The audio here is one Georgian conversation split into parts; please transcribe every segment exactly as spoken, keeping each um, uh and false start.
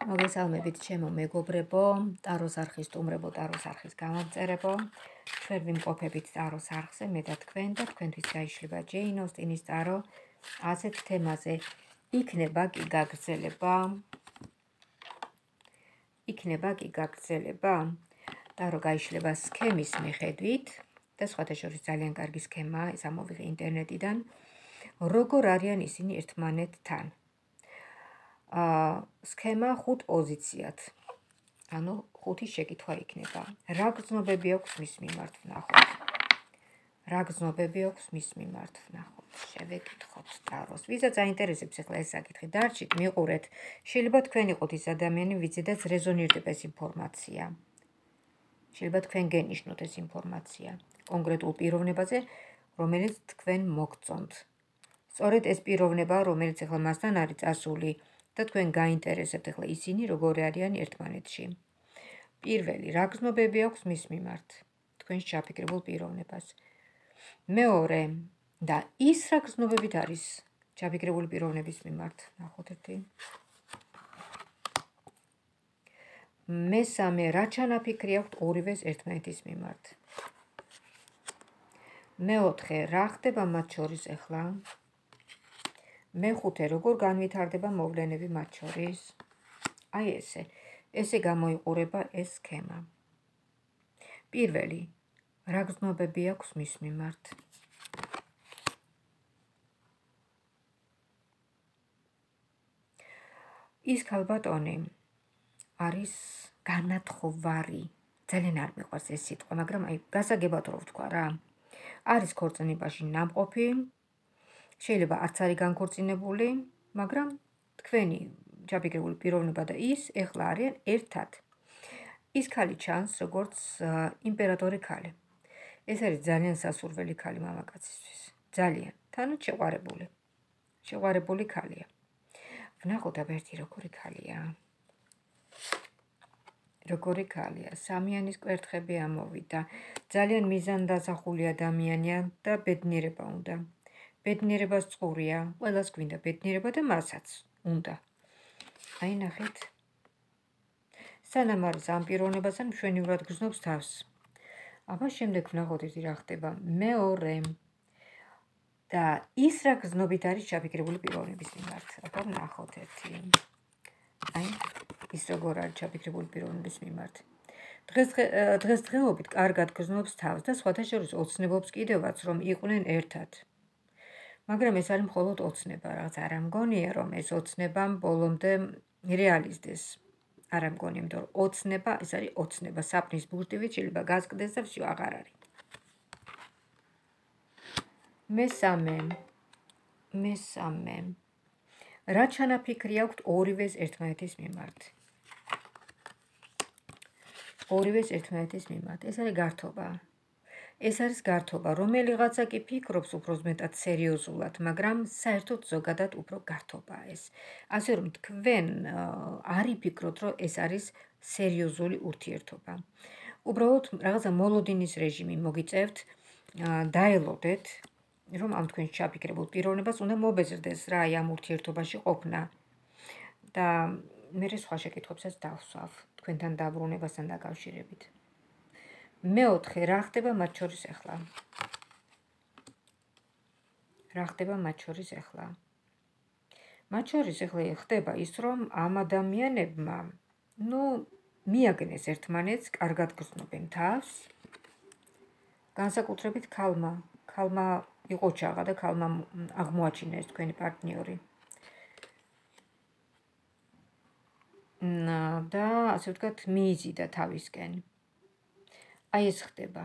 მოგესალმებით ჩემო მეგობრებო, ტაროს არხის სტუმრებო, ტაროს არხის გამომწერებო. ჩვენ ვიმყოფებით ტაროს არხზე, მე და თქვენ და თქვენთვის გაიშლება ჯეინ ოსტინის ტარო ასეთ თემაზე. იქნება კი გაგრძელება? იქნება კი გაგრძელება? ტარო გაიშლება სქემის მიხედვით და სხვათა შორის ძალიან კარგი სქემაა, ეს ამოვიღე ინტერნეტიდან. როგორ არიან ისინი ერთმანეთთან? Uh, სქემა ხუთ პოზიციად, ანუ ხუთი შეკითხვა იქნება. რა გრძნობები აქვს მის მიმართ ვნახოთ? რა გრძნობები აქვს მის მიმართ ვნახოთ? შევეკითხოთ ტაროს. ვისაც აინტერესებს ახლა ეს საკითხი, დარჩით, მიყურეთ. შეიძლება თქვენ იყოთ ის ადამიანი, ვიზედაც რეზონირდება ეს ინფორმაცია. შეიძლება თქვენ გენიშნოთ ეს ინფორმაცია კონკრეტულ პიროვნებაზე, რომელიც თქვენ მოგწონთ. სწორედ ეს პიროვნება, რომელიც ახლა მასთან არის წასული, და თქვენ გაინტერესებთ ახლა ისინი როგორი არიან ერთმანეთში. პირველი, რა გრძნობები აქვს მის მიმართ, თქვენს ჩაფიქრებულ პიროვნებას. მეორე, და ის რა გრძნობებით არის ჩაფიქრებული პიროვნების მიმართ, ნახოთ ერთი. მესამე, რა ჩანაფიქრი აქვთ ორივეს ერთმანეთის მიმართ. მეოთხე, რა ხდება მათ შორის ახლა? მეხუთე, როგორ განვითარდება მოვლენები მათ შორის? აი ესე, ესე გამოიყურება ეს სქემა. პირველი, რა გრძნობები აქვს მის მიმართ? ის ქალბატონი არის განათხოვარი. ძალიან არ მიყვარს ეს სიტყვა, მაგრამ აი გასაგებად რო ვთქვა რა. არის ქორწინებაში ნამყოფი, შეიძლება არც არის განქორწინებული, მაგრამ თქვენი ჩაფიქრებული პიროვნება და ის ეხლა არიან ერთად. ის ქალი ჩანს როგორც იმპერატორი ქალი. ეს არის ძალიან სასურველი ქალი მამაკაცისთვის. ძალიან, თანაც შეყვარებული. შეყვარებული ქალია. ვნახოთ აბა ერთი როგორი ქალია. როგორი ქალია, სამიანის კვერთხები ამოვიდა. ძალიან მიზანდაზახული ადამიანია და ბედნიერება უნდა. ბედნიერებას წყურია, ყველას გვინდა ბედნიერება და მასაც უნდა. აი ნახეთ. სანამ არის ამ პიროვნებასთან მშვენივრად გრძნობს თავს. აბა შემდეგ ვნახოთ ერთი რა ხდება. მეორე და ის რა გრძნობით არის ჩაფიქრებული პიროვნების მიმართ. აბა ვნახოთ ერთი. აი ის როგორ არის ჩაფიქრებული პიროვნების მიმართ. დღეს დღესდღეობით კარგად გრძნობს თავს და სხვათა შორის ოცნებობს კიდევაც რომ იყვნენ ერთად. მაგრამ ეს არის მხოლოდ ოცნება, რაღაც არ ამგონია რომ ეს ოცნება ბოლომდე რეალიზდეს. არ ამგონია, იმიტომ რომ ოცნება, ეს არის ოცნება, საპნის ბურთივით შეიძლება გასკდეს და всё აღარ არის. მესამე. მესამე. რა ჩანაფიქრი აქვთ ორივეს ერთმანეთის მიმართ? ორივეს ერთმანეთის მიმართ. ეს არის გართობა. ეს არის გართობა, რომელიღაცა კი ფიქრობს უფრო მეტად სერიოზულად, მაგრამ საერთოდ ზოგადად უფრო გართობაა ეს. ასე რომ თქვენ არ იფიქროთ, რომ ეს არის სერიოზული ურთიერთობა. უბრალოდ რაღაცა მოლოდინის რეჟიმი მოგიწევთ, დაელოდეთ, რომ ამ თქვენს ჩაფიქრებულ პიროვნებას უნდა მობეზრდეს რა აი ამ ურთიერთობაში ყოფნა. და მე სხვა შეკითხვებსაც დავსვავ თქვენთან დაბრუნებასთან დაკავშირებით. მეოთხე, რა ხდება მათ შორის ახლა? რა ხდება მათ შორის ახლა? მათ შორის ახლა ხდება ის, რომ ამ ადამიანებმა, ნუ, მიაგნეს ერთმანეთს, კარგად გრძნობენ თავს. განსაკუთრებით ქალმა, ქალმა იყო ჩაღა და ქალმა აღმოაჩინა ეს თქვენი პარტნიორი. და ასე ვთქვათ, მიიზიდა თავისკენ. აი ეს ხდება.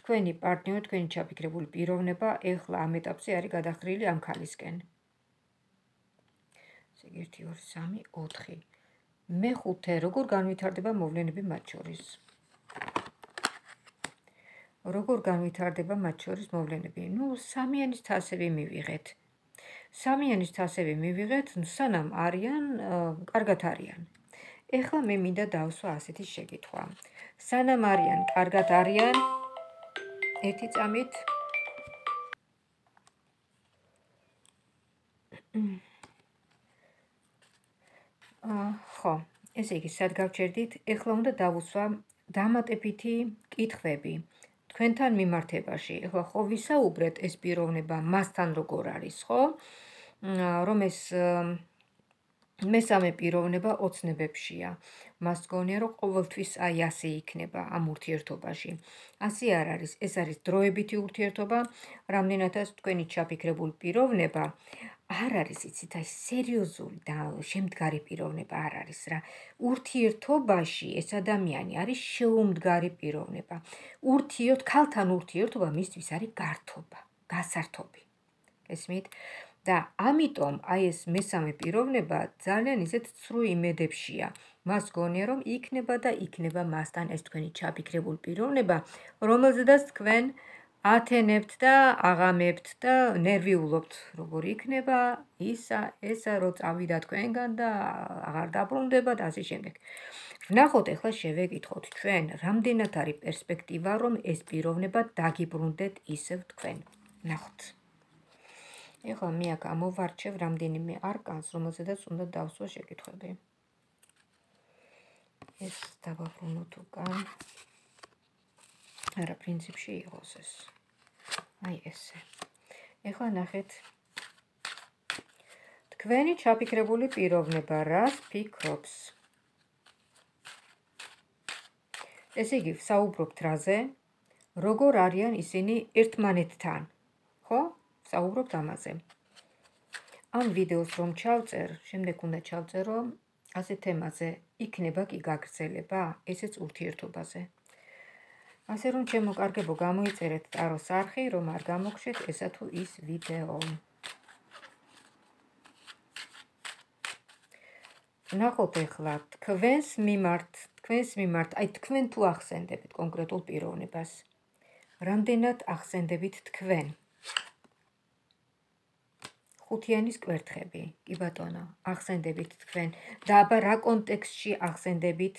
თქვენი პარტნიორი, თქვენი ჩაფიქრებული პიროვნება ეხლა ამ ეტაპზე არის გადახრილი ამ ქალისკენ. ერთი, ორი, სამი, ოთხი. მეხუთე, როგორ განვითარდება მოვლენები მათ შორის? როგორ განვითარდება მათ შორის მოვლენები? ნუ, სამიანის თასები მივიღეთ. სამიანის თასები მივიღეთ, სანამ არიან, კარგად არიან. ეხლა მე მინდა დავსვა ასეთი შეკითხვა. სანამ არიან, კარგად არიან, ერთი წამით ხო, ესე იგი, სად გავჩერდით? ეხლა უნდა დავუსვა დამატებითი კითხვები თქვენთან მიმართებაში. ეხლა ხო ვისაუბრეთ ეს პიროვნება მასთან როგორ არის, ხო? რომ ეს მესამე პიროვნება ოცნებებშია. მას გონია, რომ ყოველთვის აი ასე იქნება ამ ურთიერთობაში. ასე არ არის, ეს არის დროებითი ურთიერთობა, რამდენადაც თქვენი ჩაფიქრებული პიროვნება არ არის, იცით, აი სერიოზული და შემდგარი პიროვნება არ არის რა. ურთიერთობაში ეს ადამიანი არის შეუმდგარი პიროვნება. ურთიერთ ქალთან ურთიერთობა მისთვის არის გართობა, გასართობი. გესმით? და ამიტომ აი ეს მესამე პიროვნება ძალიან ისეთ ცრუ იმედებშია. მას გონია, რომ იქნება და იქნება მასთან ეს თქვენი ჩაფიქრებული პიროვნება, რომელზედაც თქვენ ათენებთ და აღამებთ და ნერვიულობთ, როგორ იქნება ისა, ესა, რო წავიდა თქვენგან და აღარ დაბრუნდება და ასე შემდეგ. ვნახოთ ახლა შევეკითხოთ ჩვენ, რამდენად არის პერსპექტივა, რომ ეს პიროვნება დაგიბრუნდეთ ისევ თქვენ. ნახოთ. ეხლა მე აქ ამოვარჩევ რამდენიმე არკანს, რომელზედაც უნდა დავსვა შეკითხვები. ეს დავაბრუნოთ უკან. არა, პრინციპში იყოს ეს. აი ესე. ეხლა ნახეთ. თქვენი ჩაფიქრებული პიროვნება რას ფიქრობს? ესე იგი, ვსაუბრობთ რაზე? როგორ არიან ისინი ერთმანეთთან? ხო? ვსაუბრობთ ამაზე. ამ ვიდეოს რომ ჩავწერ, შემდეგ უნდა ჩავწერო ასე თემაზე, იქნება კი გაგრძელება, ესეც ურთიერთობაზე. ასე რომ ჩემო კარგებო, გამოიწერეთ ტაროს არხი, რომ არ გამოგხსეთ ესა თუ ის ვიდეო. ნახოთ ეხლა თქვენს მიმართ, თქვენს მიმართ, აი თქვენ თუ ახსენდებით კონკრეტულ პიროვნებას. რამდენად ახსენდებით თქვენ? ხუთიანის კვერთხები, კი ბატონო, ახსენდებით თქვენ და აბა რა კონტექსტში ახსენდებით?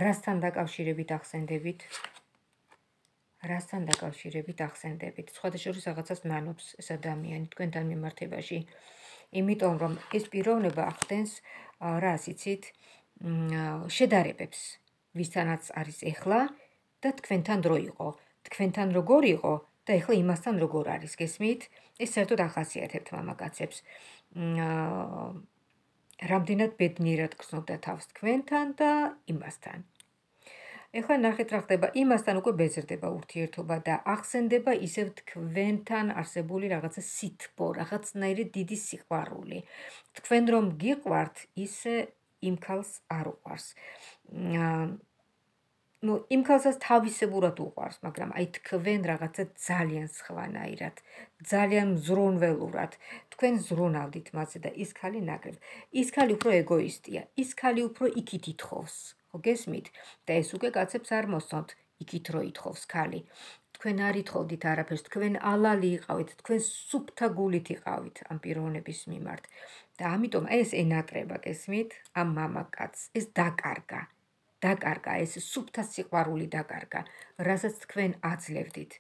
რასთან დაკავშირებით ახსენდებით? რასთან დაკავშირებით ახსენდებით? სხვადასხვა რაღაცას ნანობს ეს ადამიანი თქვენთან მიმართებაში. იმიტომ რომ ეს პიროვნება ახდენს რას იცით, შედარებებს, ვისთანაც არის ეხლა და თქვენთან დრო იყო. თქვენთან როგორ იყო და ეხლა იმასთან როგორ არის, გესმით? ეს საერთოდ ახასიათებთ მამაკაცებს. რამდენად ბედნიერად გრძნობდა თავს თქვენთან და იმასთან. ეხლა ნახეთ რა ხდება, იმასთან უკვე ბეზრდება ურთიერთობა და ახსენდება ისევ თქვენთან არსებული რაღაცა სითბო, რაღაცნაირი დიდი სიყვარული. თქვენ რომ გიყვართ, ისე იმ ქალს არ უყვარს. ну, იმ ქალსაც თავისებურად უყვარს, მაგრამ აი თქვენ რაღაცა ძალიან სხვანაირად, ძალიან მზრუნველურად, თქვენ ზრუნავდით მასზე და ის ქალი ნაკლებ. ის ქალი უფრო ეგოისტია, ის ქალი უფრო იქით ითხოვს, ხო გესმით? და ეს უკვე კაცებს არ მოსწონთ, იქით რო ითხოვს ქალი. თქვენ არ ითხოვდით არაფერს, თქვენ ალალი იყავით, თქვენ სუფთა გულით იყავით ამ პიროვნების მიმართ. და ამიტომ ეს ენატრება, გესმით? ამ მამაკაცს, ეს დაკარგა. დაკარგა, ეს სუფთა სიყვარული დაკარგა, რასაც თქვენ აძლევდით.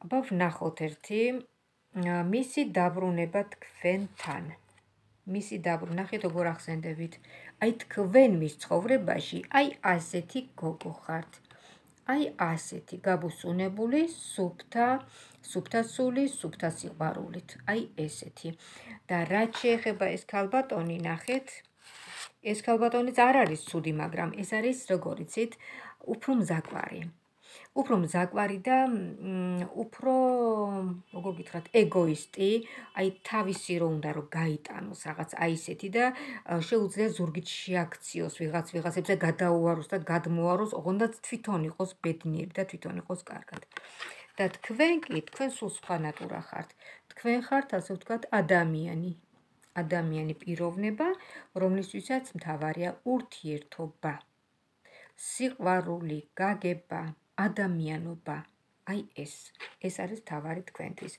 აბა ვნახოთ ერთი, მისი დაბრუნება თქვენთან. მისი დაბრუნება, ნახეთ როგორ ახსენდებით. აი თქვენ მის ცხოვრებაში, აი ასეთი გოგო ხართ. აი ასეთი გაბუსუნებული, სუფთა, სუფთასული, სუფთა სიყვარულით. აი ესეთი. და რაც შეეხება ეს ქალბატონი, ნახეთ, ეს ქალბატონიც არ არის ცუდი, მაგრამ ეს არის, როგორ იცით, უფრო მზაკვარი. უფრო მზაკვარი და უფრო, როგორ გითხრათ, ეგოისტი, აი თავისი რო უნდა რომ გაიტანოს რაღაც აი ესეთი და შეუძლია ზურგით შეაქციოს ვიღაც ვიღაცებზე გადაუაროს და გადმოაროს, ოღონდ თვითონ იყოს ბედნიერი და თვითონ იყოს კარგად. და თქვენ კი, თქვენ სულ სხვა ნატურა ხართ. თქვენ ხართ, ასე ვთქვათ, ადამიანი. ადამიანი პიროვნება, რომლისთვისაც მთავარია ურთიერთობა, სიყვარული, გაგება, ადამიანობა. აი ეს, ეს არის მთავარი თქვენთვის.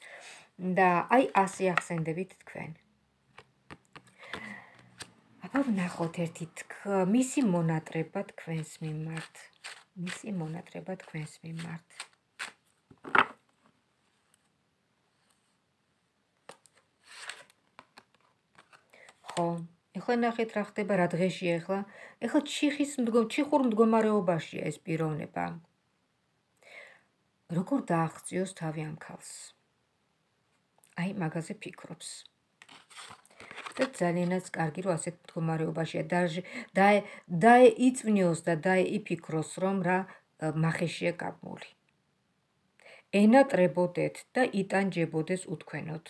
და აი ასე ახსენდებით თქვენ. აბა ვნახოთ ერთი მისი მონატრება თქვენს მიმართ. მისი მონატრება თქვენს მიმართ. ხო, ახლა ნახეთ რა ხდება, რა დღეში ახლა. ახლა ჩიხის ჩიხურ მდგომარეობაშია ეს პიროვნება. როგორ დააღწიოს თავი ამ ქალს? აი მაგაზე ფიქრობს. და ძალიანაც კარგი რომ ასეთ მდგომარეობაშია და დაეიწვნიოს და დაეიფიქროს რომ რა მახეშია გაბმული. ენატრებოდეთ და იტანჯებოდეს უთქვენოთ.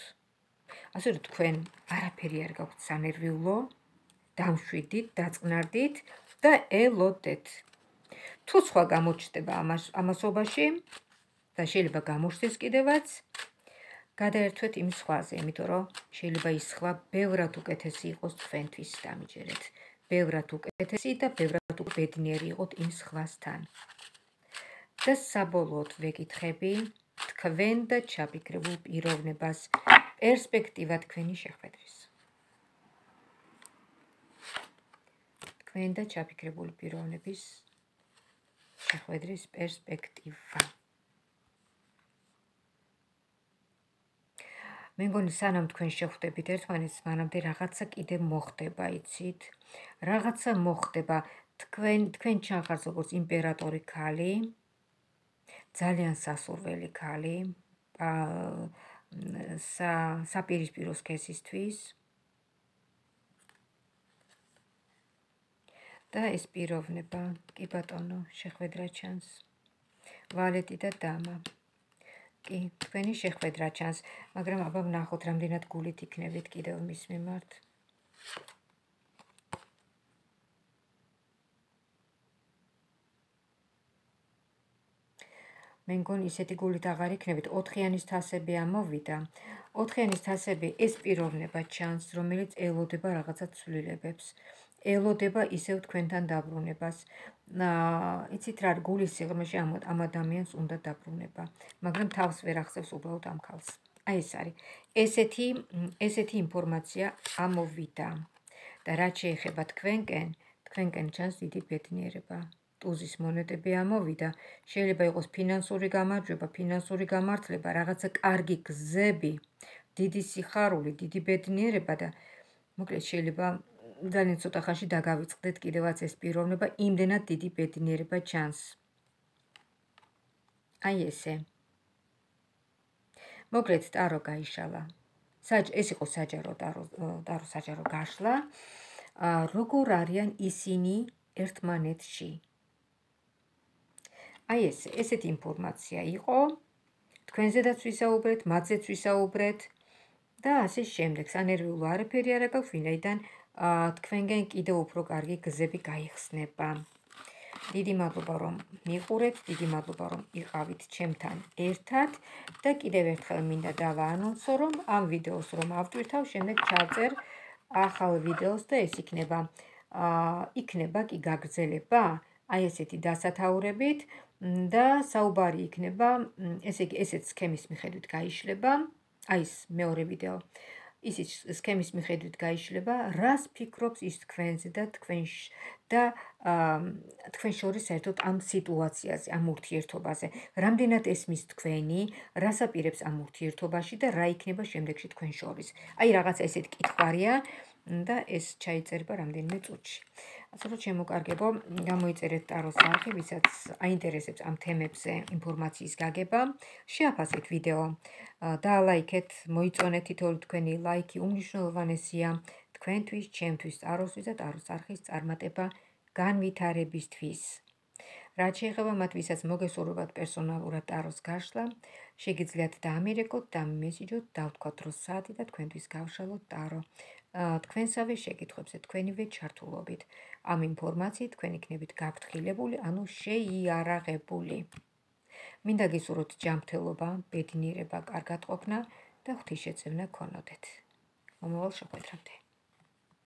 ასე რომ თქვენ არაფერი არ გაქვთ სანერვიულო, დამშვიდით, დაწყნარდით და ელოდეთ. თუ სხვა გამოჩნდება ამასობაში და შეიძლება გამოჩნდეს კიდევაც, გადაერთვეთ იმ სხვაზე, იმიტომ რომ შეიძლება ის სხვა ბევრად უკეთესი იყოს თქვენთვის დამიჯერეთ. ბევრად უკეთესი და ბევრად ბედნიერი იყოთ იმ სხვასთან. და საბოლოოდ ვეკითხები თქვენ და ჩაფიქრებულ პიროვნებას პერსპექტივა თქვენი შეხვედრის. თქვენ და ჩაფიქრებული პიროვნების შეხვედრის პერსპექტივა. მე მგონი სანამ თქვენ შეხვდებით ერთმანეთს, მანამდე რაღაცა კიდე მოხდება, იცით? რაღაცა მოხდება. თქვენ თქვენ ჩახართ როგორც იმპერატორი ქალი, ძალიან სასურველი ქალი, საპირისპირო სქესისთვის. და ეს პიროვნება, კი ბატონო, შეხვედრა ჩანს. ვალეტი და დამა. კი, თქვენი შეხვედრა ჩანს, მაგრამ აბა ვნახოთ რამდენად გულით იქნებით კიდევ მის მიმართ. მე მგონი ისეთი გულით აღარ იქნებით, ოთხიანის თასები ამოვიდა. ოთხიანის თასები ეს პიროვნება ჩანს, რომელიც ელოდება რაღაცა ცვლილებებს. ელოდება ისევ თქვენთან დაბრუნებას. იცით რა, გულის სიღრმეში ამ ადამიანს უნდა დაბრუნება, მაგრამ თავს ვერ ახსევს უბრალოდ ამ ქალს. აი ეს არის. ესეთი ესეთი ინფორმაცია ამოვიდა. და რაც შეეხება თქვენკენ, თქვენკენ ჩანს დიდი ბედნიერება. ტუზის მონეტები ამოვიდა. შეიძლება იყოს ფინანსური გამარჯვება, ფინანსური გამართლება, რაღაცა კარგი გზები, დიდი სიხარული, დიდი ბედნიერება და მოკლედ შეიძლება ძალიან ცოტა ხანში დაგავიწყდეთ კიდევაც ეს პიროვნება, იმდენად დიდი ბედნიერება ჩანს. აი ესე. მოკლედ ტარო გაიშალა. ეს იყო საჯარო ტარო, ტარო საჯარო გაშლა. როგორ არიან ისინი ერთმანეთში? აი ესე, ესეთი ინფორმაცია იყო. თქვენზედაც ვისაუბრეთ, მათზეც ვისაუბრეთ და ასე შემდეგ. სანერვიულო არაფერი არ აქვს, ვინაიდან თქვენგენ კიდევ უფრო კარგი გზები გაიხსნება. დიდი მადლობა რომ მიყურეთ, დიდი მადლობა რომ იყავით ჩემთან ერთად და კიდევ ერთხელ მინდა დავაანონსო რომ ამ ვიდეოს რომ ავტვირთავ, შემდეგ ჩავწერ ახალ ვიდეოს და ეს იქნება იქნება კი გაგრძელება, აი ესეთი დასათაურებით და საუბარი იქნება, ესე იგი ესეც სქემის მიხედვით გაიშლება, აი ეს მეორე ვიდეო. ისიც სქემის მიხედვით გაიშლება, რას ფიქრობს ის თქვენზე და თქვენ და თქვენ შორის საერთოდ ამ სიტუაციაზე, ამ ურთიერთობაზე. რამდენად ესმის თქვენი, რას აპირებს ამ ურთიერთობაში და რა იქნება შემდეგში თქვენ შორის. აი რაღაცა ესეთი კითხვარია და ეს ჩაიწერება რამდენიმე წუთში. ასე რომ შემოკარგებო, გამოიწერეთ ტაროს არხი, ვისაც აინტერესებს ამ თემებზე ინფორმაციის გაგება, შეაფასეთ ვიდეო, დაალაიქეთ, მოიწონეთ თითოეული თქვენი ლაიქი უმნიშვნელოვანესია თქვენთვის, ჩემთვის, ტაროსთვის და ტაროს არხის წარმატება განვითარებისთვის. რაც შეეხება მათ, ვისაც მოგესურვებათ პერსონალურად ტაროს გაშლა, შეგიძლიათ დაამერეკოთ, დამიმესიჯოთ, დავთქვათ რო საათი და თქვენთვის გავშალოთ ტარო. თქვენსავე შეკითხვებზე თქვენივე ჩართულობით. ამ ინფორმაციით თქვენ იქნებით გაფრთხილებული, ანუ შეიარაღებული. მინდა გისურვოთ ჯანმრთელობა, ბედნიერება, კარგად ყოფნა და ღვთისშეწევნა გქონოდეთ. მომავალ შეხვედრამდე.